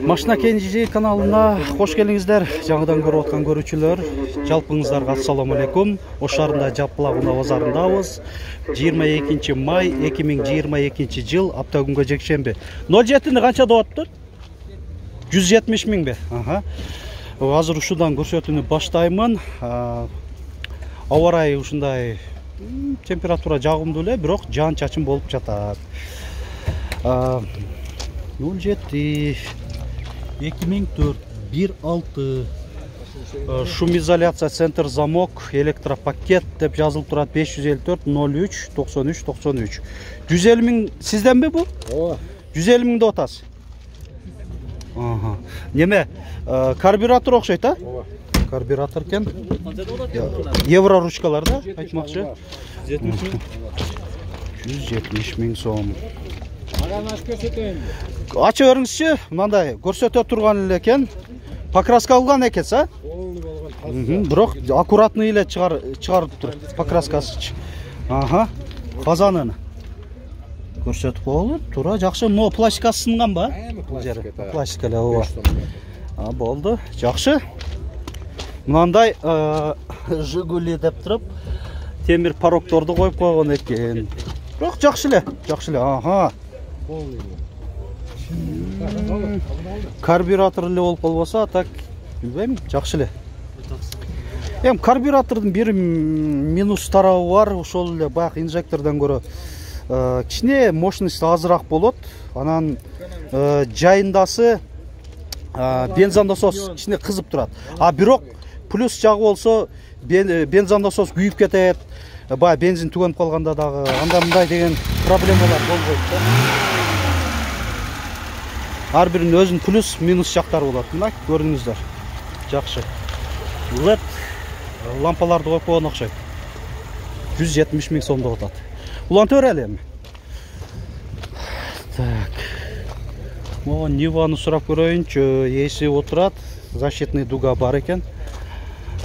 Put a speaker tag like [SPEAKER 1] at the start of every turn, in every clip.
[SPEAKER 1] Машина Кенжи каналына хош келиңиздер. Жаңыдан көрүп аткан көрүүчүлөр, жалпыңыздарга ассаламу алейкум. Ош шаарында Жаппылагына базарындабыз. 22 май 2022 жыл, апта күнгө жекшемби. 07-ни канча деп атты? 170 миң бе? Азыр ушудан көрсөтүүнү баштаймын. Аба ырайы ушундай температура жагымдуу эле, бирок жаан чачын болуп жатат. 07 2004 16 шумизоляция центр замок электропакет деп жазылып турат. 554 03 93 93. 150 миң сизденби бу? Ооба. 150 миң деп атасыз. Неме карбюратор окшойт, а? Ооба. Карбюратор экен. Евро ручкалар да, айтмакчы. 170 миң сом. Ачып көрүңүзчү, мындай көрсөтө турган эле экен. Покраска алган экенсиз, а? Бирок аккуратный эле чыгарып тур. Покраскасы. Казанын көрсөтүп коелу. Туура жакшы. Mo пластикасы сынган ба? Пластика эле, ооба. Болду. Жакшы. Мындай Жигули деп туруп, темир порогторду коюп койгон экен. Бирок жакшы эле, Карбюратор эле болуп калбаса, так билбейм, жакшы эле. Карбюратордун бир минус тарабы бар, ошол эле баягы инжектордон көрө кичине мощность азыраак болот. Анан жайындасы бензонасос кичине кызып турат. Бирок плюс жагы болсо бензонасос күйүп кетет. Бая бензин түгөнүп калганда дагы анда мындай деген проблемалар болбойт да. Ар биринин өзүнүн плюс минус жактары болот. Мына көрүңүздөр. Жакшы. LED лампаларды коюп койгон окшойт. 170 миң сом деп атат. Улантып берели эми. Так. Могу Ниваны сурап көрөйүнчү. Эси отурат. Защитный дуга бар экен.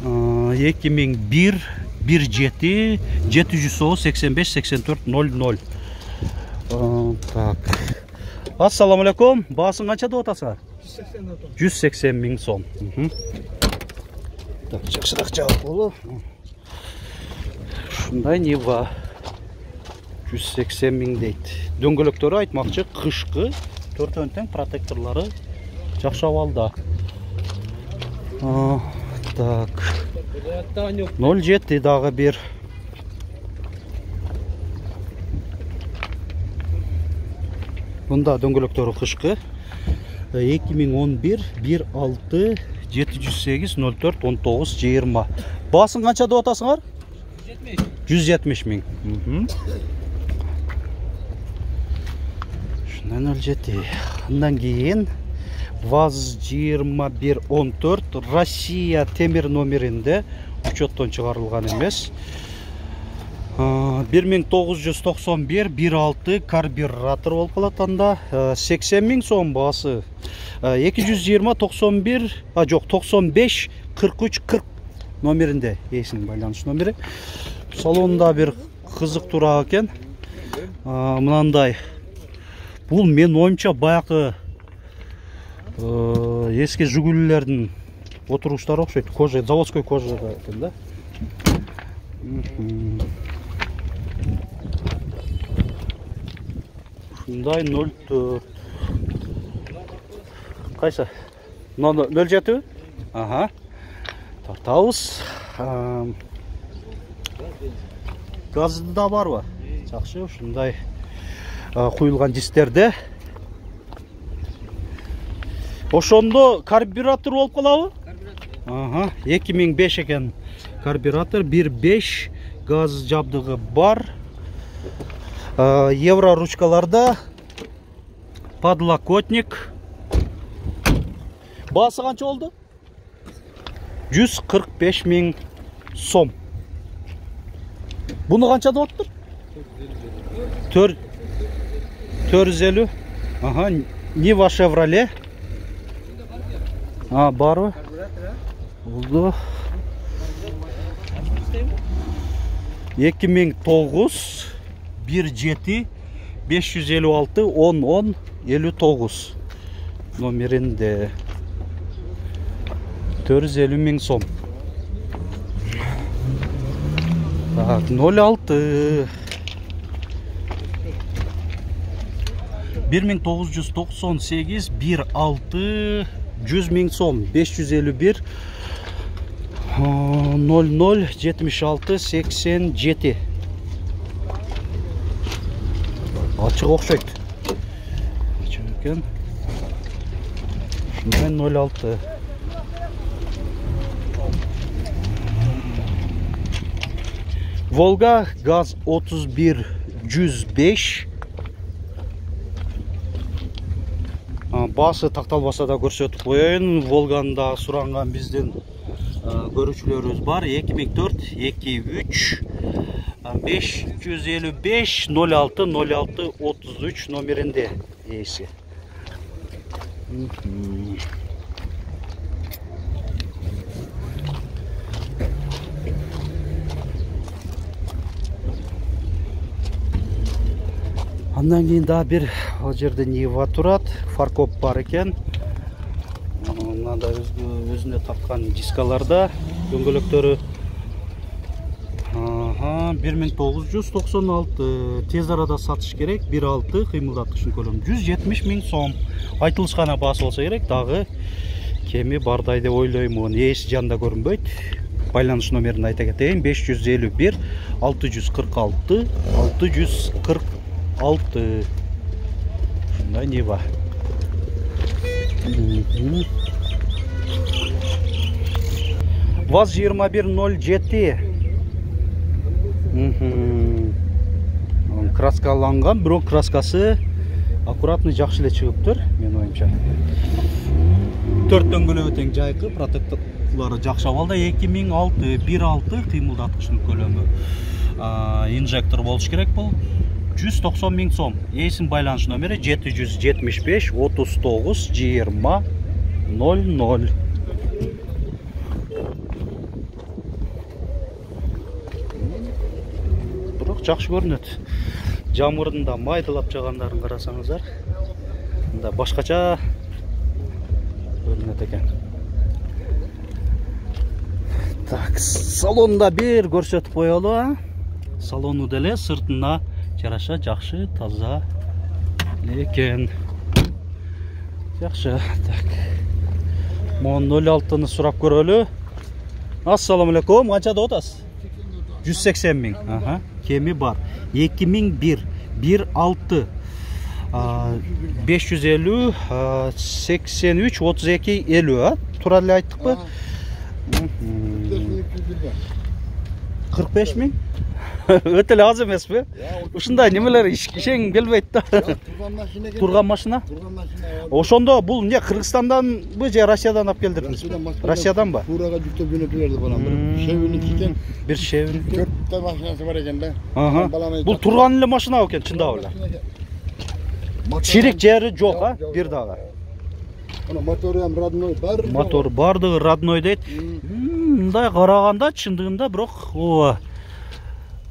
[SPEAKER 1] 2001 17 785 84 00. Так. Ассаламу алейкум. Баасын канча деп атасыңар? 180 миң сом. Так, жакшыраак жабып болу. Ушундай Нива 180 миң дейт. Дөңгөлөктөрү айтмакчы кышкы, төртөн тең протекторлору жакшы абалда. Так. 07 дагы бир. Мында дөңгөлөктөрү кышкы. 2011 16 708 04 19 20. Баасын канча деп атасыңар? 170 миң. Шундан 07. Андан кийин ВАЗ 2114 Россия темир номеринде учеттон чыгарылган эмес. 1991 16 карбюратор болуп калат анда. 80 миң сом баасы. 220 91 жок 95 43 40 номеринде эсинин байланыш номери. Салонда бир кызыктуураак экен. Мынандай. Бул мен оюмча баягы эски Жигулилердин отуруштары окшойт. Кожа, заводской кожа экен да. Ушундай 04. Кайсы? 07? Тартабыз. Газы да барбы? Жакшы, ушундай куюлган дистерде. Ошондо карбюратор болуп калабы? 2005 экен карбюратор, 1.5 газ жабдыгы бар. Евро ручкаларда подлокотник. Баасы канча болду? 145 миң сом. Буну канча деп аттыр? 450. Нива Chevrolet. Барбы? Болду. 2009 17 556 10 10 59. номеринде 450 000 сом. Так, 06 1998 16 100 000 сом. 551 00 76 87. Açık okşayt. Çünkü şundan 06. Volga gaz 31 105. Bası taqtalbasa da көрсөтүп коеюн. Volga'nda суранган биздин көрүүчүлөрүбүз бар. 2004 23 555 06 06 33 номеринде ээси. Андан кийин да бир ал жерде Нива турат, фаркоп бар экен. Мында өзүнө тапкан дискаларда дөңгөлөктөрү 1996 тез арада сатыш керек. 1.6 кыймылдаткычтын көлөмү 170 000 сом. Айтылышкан баасы болсо керек, дагы кеми бардай деп ойлоймун. Ээси жанында көрүнбөйт. Байланыш номерин айта кетейин: 551 646 646. Шундай Нива. ВАЗ 2107. Краскаланган, бирок краскасы аккуратный, жакшы эле чыгыптыр, мен оюмча. 4 дөңгөлөгү тең жайкы, протекторлору жакшы абалда. 2006 1.6 кыймылдаткычтын көлөмү. Инжектор болуш керек бул. 190 000 сом. Ээсинин байланыш номери 775 39 20 00. Бирок жакшы көрүнөт. Жамырдын да майдалап жагандарын карасаңыздар, мында башкача көрүнөт экен. Так, салонда бир көрсөтүп коелу. Салону деле сыртына жараша жакшы, таза экен. Жакшы. Так. Мон 06-ны сурап көрөлү. Ассаламу алейкум. Канчада отасыз? 180 000. Аха. Кеми бар. 2001 1.6 550 83 32 50. Туура эле айттыкпы? 45 000. Өтө эле аз эмеспи? Ушундай немелер ишең келбейт да. Турган машина? Ошондо бул эмне, Кыргызстанданбы же Россиядан алып келдиңизби? Россияданбы?
[SPEAKER 2] Фурага жүктөп жөнөтүп берди балам.
[SPEAKER 1] Bir шевин.
[SPEAKER 2] 4 та машинасы бар экен да.
[SPEAKER 1] Бул турган эле машина экен, чындап эле. Чирик жери жок, а? Бир дагы.
[SPEAKER 2] Ана мотору ham родной бар.
[SPEAKER 1] Мотор бардыгы родной дейт. Мындай караганда чындыгында бирок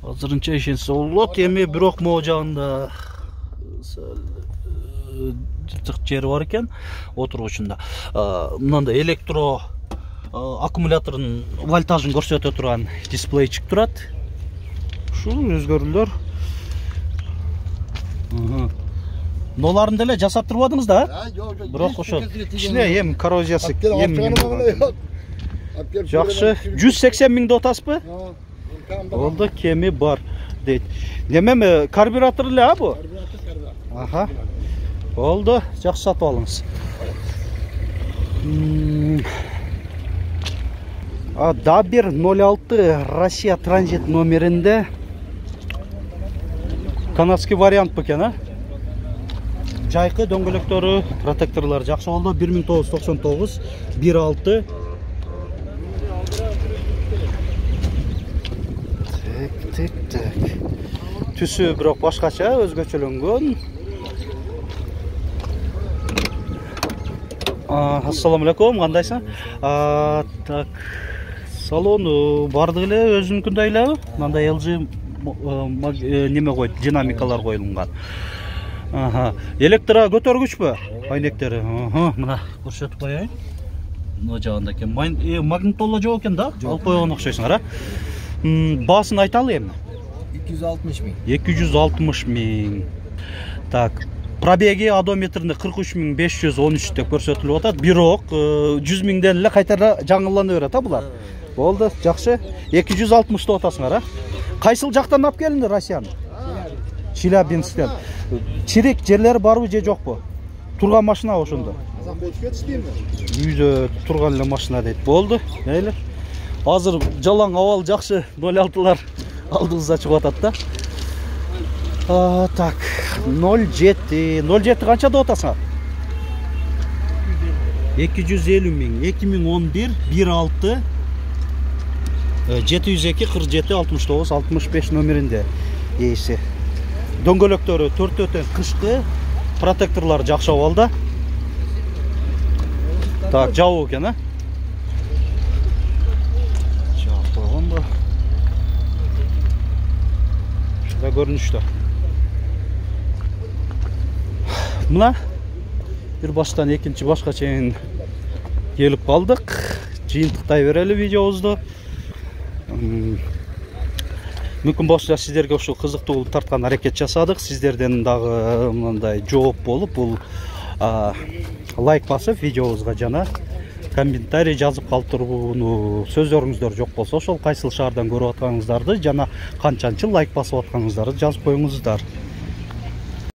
[SPEAKER 1] азырынча ишенсе болот. Эми бирок могу жагында жыртык жери бар экен отургучунда. Мындай электро аккумулятордун вольтажын көрсөтө турган дисплейчик турат. Ушул өзгөрүүлөр. Ноларын деле жасап турбадыңыз да? Бирок ошо ичине эм коррозиясы жакшы. 180 000 да отасызбы? Болду, кеми бар дейт. Немеме карбюратор эле а бу? Аха. Болду, жакшы сатып алыңыз. Да бир 06 Россия транзит номеринде канадский вариант бекен, а? Жайкы дөңгөлөктөрү, протекторлор жакшы болду. 1999 1.6. Так. Түсү бирок башкача, өзгөчөлөнгөн. Ассаламу алейкум, кандайсың? Так. Салону бардыгы эле өзүнүкүндөй эле. Мындай LG неме койду, динамикалар коюлган. Электро көтөргүчпү? Айнектери. Мына көрсөтүп коеюн. Мына жагында экен. Магнитола жок экен да? Алып койгон окшойсуңар, а? Баасын айталы эми.
[SPEAKER 2] 260 миң.
[SPEAKER 1] 260 миң. Так. Пробеги одометринде 43.513 деп көрсөтүлүп атат. Бирок 100 миңден эле кайтара жаңылана берет, а булар. Болду, жакшы. 260 деп атасыңар, а? Кайсыл жактан алып келинди Россияны? Челябинсктен. Чирик жерлери барбы же жокпу? Турган машина ошондо. Үйдө турган эле машина дейт. Болду. Мейли. Азыр жалаң абал жакшы 06-лар алдыбызда чыгып атат да. Так, 07 канча деп атасыңар? 250 миң, 2011 16 702 47 69 65 номеринде ээси. Дөңгөлөктөрү 4-төн кышкы, протекторлор жакшы абалда. Так, жабуу экен, а? Жабып койгонбу? Ушундай көрүнүштө. Мына бир баштан экинчи башка чейин келип калдык. Жыйынтыктай берели видеобузду. Мүмкүн болсо сиздерге ушул кызыктуу болуп тарткан аракет жасадык. Сиздерден дагы мындай жооп болуп, бул лайк басып видеобузга жана комментарий жазып калтырууну сөздөрүңүздөр жок болсо, ошол кайсыл шаардан көрүп атканыңыздарды жана канчанчы лайк басып атканыңыздарды жазып коюңуздар.